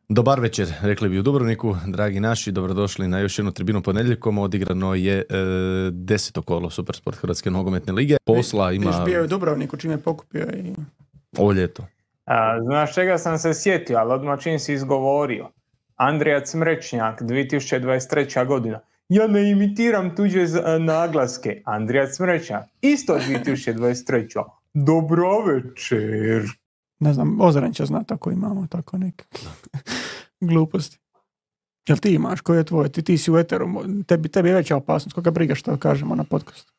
Dobar večer, rekli bi u Dubrovniku, dragi naši, dobrodošli na još jednu tribinu ponedjeljkom. Odigrano je 10. kolo Supersport Hrvatske nogometne lige. Posla ima... Viš bio je u Dubrovniku čim je pokupio i... Ovo ljeto. Znaš čega sam se sjetio, ali odmah čim si izgovorio. Andrija Cmrečnjak, 2023. godina. Ja ne imitiram tuđe naglaske. Andrija Cmrečnjak, isto 2023. Dobro večer. Ne znam, Ozren će znati ako imamo tako neke gluposti. Jel ti imaš, koji je tvoj? Ti si u eteru, tebi je veća opasnost. Koga briga što kažemo na podcastu?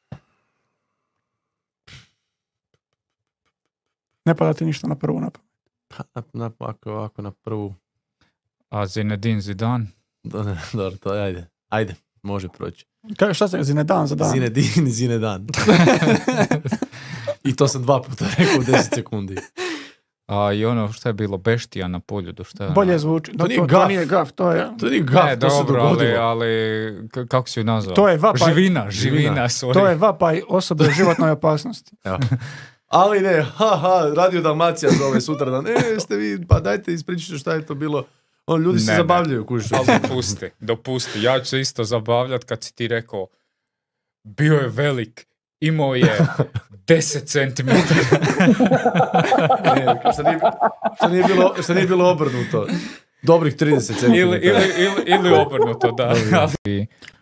Ne pada ti ništa na prvu napamet. Ovako na prvu. A Zinedine Zidane? Dobro, to je, ajde, može proći. Šta se Zinedan za dan? Zinedan. I to sam 2 puta rekao u 10 sekundi. A i ono što je bilo Beštija na Poljudu, što je... Bolje zvuči. To nije gaf. To je... To nije gaf, to se dogodilo. ali kako si ju nazvao? To je vapaj. Živina, sorry. To je vapaj osobe u životnoj opasnosti. Ja. Ali ne, Radio Dalmacija zove sutradan. Ste vi, pa dajte ispričajte šta je to bilo. Ljudi se zabavljaju, kužiš. Dopusti. Ja ću se isto zabavljati kad si ti rekao bio je velik, imao je 10 cm. Što nije bilo obrnuto. Dobrih 30 cm. Ili obrnuto, da.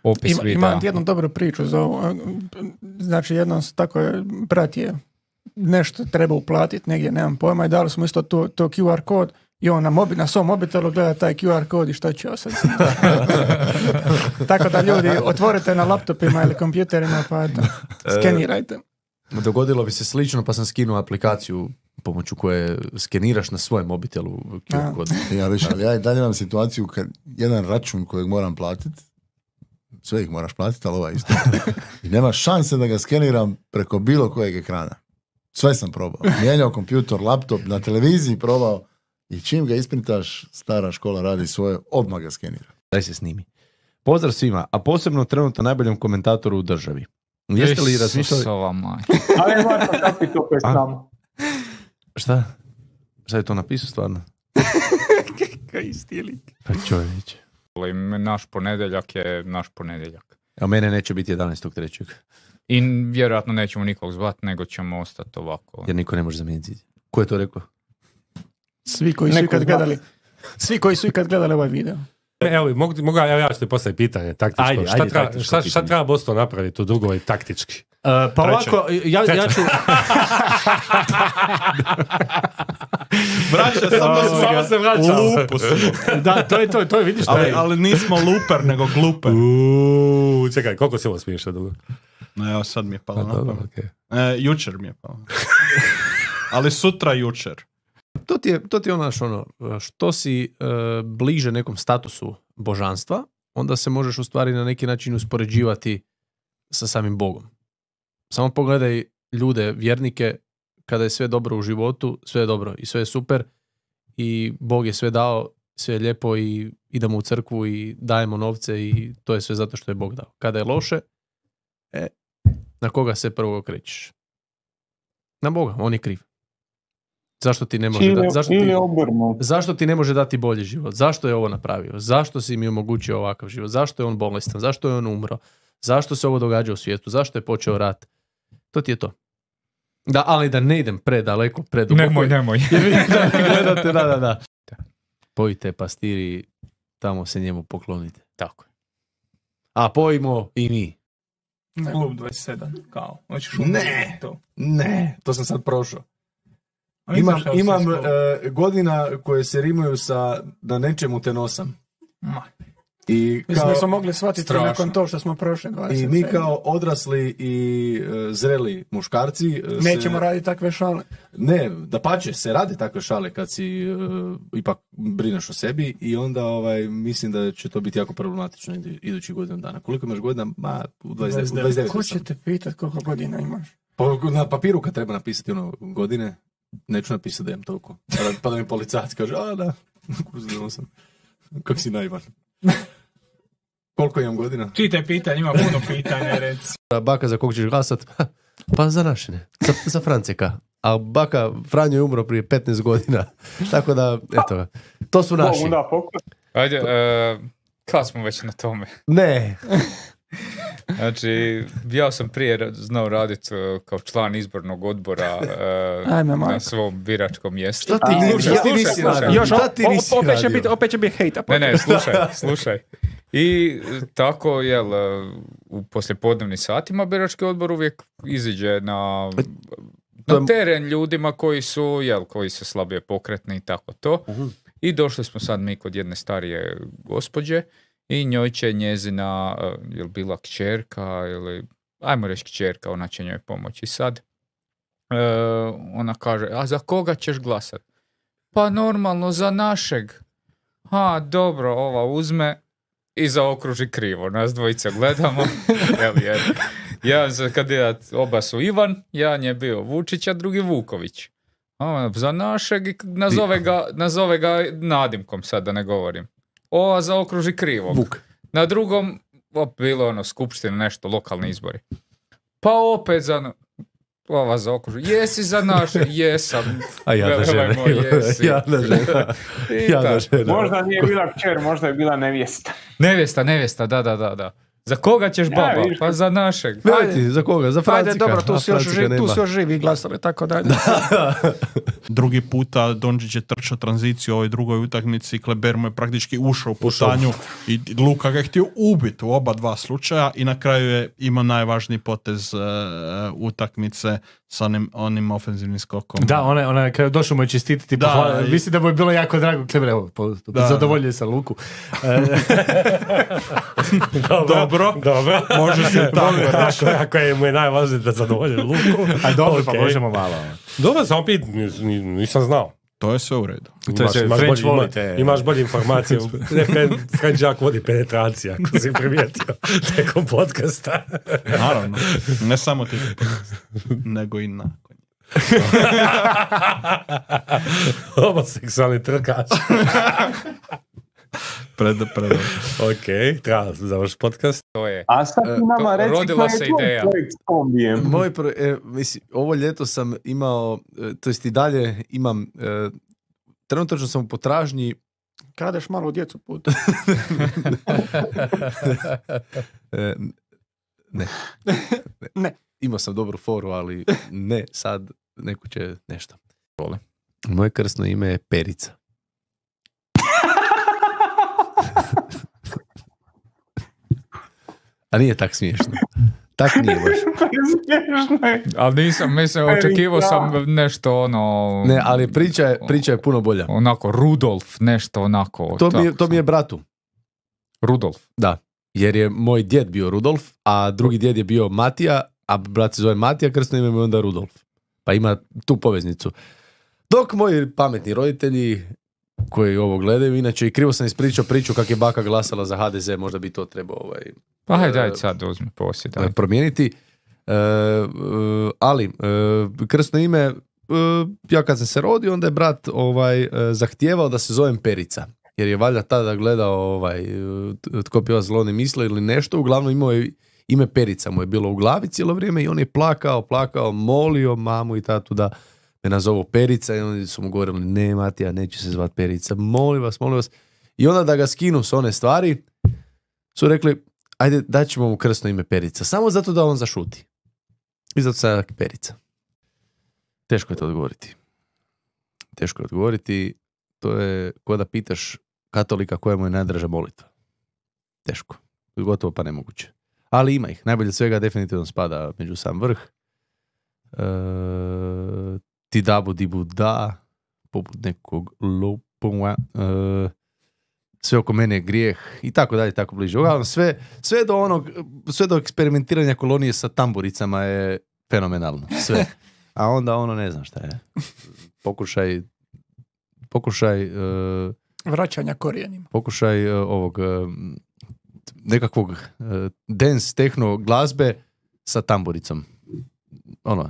Opis videa. Imam jednu dobru priču za ovo. Znači, jednom tako je, brat je nešto treba uplatiti, negdje, nemam pojma, i dali smo isto to QR kod i on na svom mobitelu gleda taj QR kod i što će osad. Tako da ljudi, otvorite na laptopima ili kompjuterima pa eto, skenirajte. Dogodilo bi se slično, pa sam skinuo aplikaciju pomoću koje skeniraš na svojem mobitelu QR kod. Ali ja i dalje imam situaciju kad jedan račun kojeg moram platiti, sve ih moraš platiti, ali ovaj isto. I nema šanse da ga skeniram preko bilo kojeg ekrana. Sve sam probao. Mijenjao kompjutor, laptop, na televiziji probao i čim ga isprintaš, stara škola radi svoje, odmah ga skenira. Daj se snimi. Pozdrav svima, a posebno trenutno najboljem komentatoru u državi. Jeste li razmišljali... Ali Marko kapi to koje samo. Šta? Šta je to napisao stvarno? Kaj isti lik. Pa čovječe. Naš ponedjeljak je naš ponedjeljak. A mene neće biti 11.3. I vjerojatno nećemo nikog zvati, nego ćemo ostati ovako. Jer niko ne može zamijeniti. Ko je to rekao? Svi koji su ikad gledali ovaj video. Evo, ja ću ti postaviti pitanje taktičko. Šta treba Boston napraviti u drugoj taktički? Pa ovako, ja ću... Vraća samo se vraća. Lupu smo. Da, to je, vidiš. Ali nismo luper, nego gluper. Čekaj, koliko si ovo smiješ dugo? No, evo, sad mi je palo na pamet. Jučer mi je palo. Ali sutra jučer. To ti je ono, što si bliže nekom statusu božanstva, onda se možeš u stvari na neki način uspoređivati sa samim Bogom. Samo pogledaj ljude, vjernike, kada je sve dobro u životu, sve je dobro i sve je super i Bog je sve dao, sve je lijepo i idemo u crkvu i dajemo novce i to je sve zato što je Bog dao. Kada je loše, na koga se prvo okrećeš? Na Boga, on je kriv. Zašto ti ne može zašto ti ne može dati bolji život? Zašto je ovo napravio? Zašto si mi omogućio ovakav život? Zašto je on bolestan? Zašto je on umro? Zašto se ovo događa u svijetu? Zašto je počeo rat? To ti je to. Da, ali da ne idem predaleko, preduboko. Nemoj. Jer vidim da mi gledate, da. Pojite pastiri, tamo se njemu poklonite. Tako je. A pojmo i mi. Klub 27, kao. Ne, to sam sad prošao. Imam godina koje se rimuju sa da nečemu te nosam. I mislim da smo mogli shvatiti nakon to što smo prošli 27. I mi kao odrasli i zreli muškarci nećemo raditi takve šale. Ne, dapače, se rade takve šale kad si ipak brineš o sebi i onda mislim da će to biti jako problematično idućih godinu dana. Koliko imaš godina? U 29. Ko će te pitati koliko godina imaš? Na papiru kad treba napisati godine, neću napisati da imam toliko. Pa da mi policajac kaže, da, kako si naivan. Koliko imam godina? Čite pitanje, ima puno pitanja, reci. Baka, za kog ćeš glasat? Pa za našine. Za Franceka. a baka Franjo je umro prije 15 godina. Tako da, eto ga. To su naši. Bogu da pokoj. Ajde, kad smo već na tome? Ne. Znači, ja sam prije znao raditi kao član izbornog odbora na svom biračkom mjestu. Što ti nisi radio? Opet će biti hejta. Ne, slušaj. I tako, u poslijepodnevnim satima birački odbor uvijek iziđe na teren ljudima koji su, koji su slabije pokretni i tako to. I došli smo sad mi kod jedne starije gospođe i njoj će njezina, jel bila kćerka ili, ajmo reći kćerka, ona će njoj pomoći. Sad ona kaže, a za koga ćeš glasat? Pa normalno za našeg. Dobro, ova uzme i zaokruži krivo. Nas dvojica gledamo. Jedan za kandidat, oba su Ivan, jedan je bio Vučić, a drugi Vuković. Za našeg i nazove ga nadimkom, sad da ne govorim. Ova zaokruži krivo. Vuk. Na drugom, bilo skupština, nešto, lokalni izbori. Pa opet ova zaokruži. Jesi za naše? Jesam. A jadna žena. Jadna žena. Možda nije bila kćer, možda je bila nevjesta. Nevjesta, da. Za koga ćeš baba? Pa za našeg. Ajde, za koga? Za Francika. Ajde, dobro, tu su još živi glasali, tako da. Drugi puta Dončić je trčao tranziciju u ovoj drugoj utakmici, Kleber mu je praktički ušao u putanju i Luka ga je htio ubiti u oba dva slučaja i na kraju je imao najvažniji potez utakmice sa onim ofenzivnim skokom. Da, ona kada došao mu je čestititi, mislim da mu je bilo jako drago. Kleber, evo, zadovoljio sam Luku. Dobro. Može se tako. Ako je mu je najvažnije da zadovolje Luku. A dobro, pa možemo malo. Dobro, samo nisam znao. To je sve u redu. Imaš bolje informacije. French Jack vodi penetracija, ako si primijetio nekom podcasta. Naravno. Ne samo ti nego i nakon. Homoseksualni trkač. Predobro. Ok, treba završiti podcast. To je. A sad ti nama reći rodila se ideja. Ovo ljeto sam imao, to jest i dalje imam, trenutno sam u potražnji. Kradeš malo djecu put. Ne. Imao sam dobru foru, ali ne, sad neko će nešto. Moje krstno ime je Perica. A nije tak smiješno. Tak nije baš. Ali nisam, očekivao sam nešto Ne, ali priča je puno bolja. Onako, Rudolf, nešto onako. To mi je bratu. Rudolf? Da, jer je moj djed bio Rudolf, a drugi djed je bio Matija, a brat se zove Matija, krstno ime mu je onda Rudolf. Pa ima tu poveznicu. Dok moji pametni roditelji koji ovo gledaju, inače i krivo sam ispričao priču kako je baka glasala za HDZ, možda bi to trebao pa hajde sad uzmi posjed. Promijeniti. Ali, krstno ime, ja kad sam se rodio, onda je brat zahtijevao da se zovem Perica. Jer je valjda tada gledao tko pjeva Zlo ne misle ili nešto, uglavnom imao je ime Perica, mu je bilo u glavi cijelo vrijeme i on je plakao, molio mamu i tatu da me nazovu Perica i oni su mu govorili, ne Matija, neće se zvat Perica, molim vas. I onda da ga skinu s one stvari, su rekli, ajde daćemo mu krstno ime Perica, samo zato da on zašuti. I zato sad Perica. Teško je to odgovoriti. To je ko da pitaš katolika koja mu je najdraža molitva. Teško. Gotovo pa nemoguće. Ali ima ih. Najbolje od svega definitivno spada među sam vrh. Ti dabu dibu da, poput nekog lopova, sve oko mene je grijeh i tako dalje, tako bliže. Uglavnom, sve do eksperimentiranja kolonije sa tamburicama je fenomenalno. Sve. A onda ne znam šta je. Pokušaj vraćanja korijenima. Pokušaj ovog nekakvog dance techno glazbe sa tamburicom.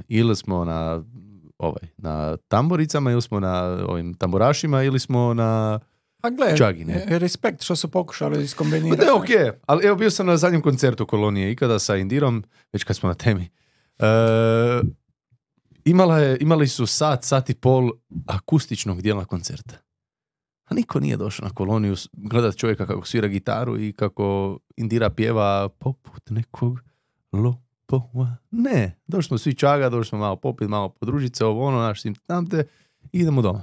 Ili smo na tamburicama, ili smo na ovim tamburašima, ili smo na čagi, ne? Respekt što su pokušali iskombinirati. Da, ok, ali evo bio sam na zadnjem koncertu kolonije ikada sa Indirom, već kad smo na temi. imali su sat i pol akustičnog dijela koncerta. A niko nije došao na koloniju gledat čovjeka kako svira gitaru i kako Indira pjeva poput nekog lopova. Ne, došli smo svi čaga, došli smo malo popit, malo podružit se, ovo ono, naš sim tamte i idemo doma.